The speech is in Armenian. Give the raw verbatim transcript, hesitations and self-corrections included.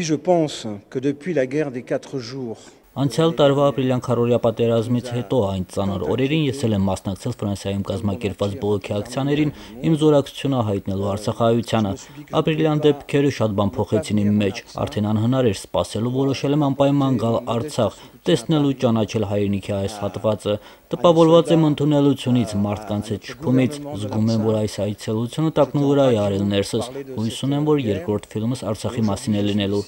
Je pense que depuis la guerre des quatre jours Անցյալ տարվա ապրիլյան քառորյա պատերազմից հետո այն ծանր օրերին ես էլ եմ մասնակցել Ֆրանսիայում կազմակերպված բողոքի ակցիաներին իմ զորակցությունը հայտնելու Արցախայությանը։ Ապրիլյան դեպքերը շատ բան փոխեցին իմ մեջ, արդեն անհնար էր սպասելու, որոշել եմ անպայման գալ Արցախ, տեսնելու ճանաչել հայրենիքի այս հատվածը։ Տպավորված եմ ընդունելությունից, մարդկանց հետ շփումից, զգում եմ, որ այս այցելությունը տակնուվրա է արել ներսս, հույս ունեմ, որ երկրորդ ֆիլմս Արցախի մասին է լինելու։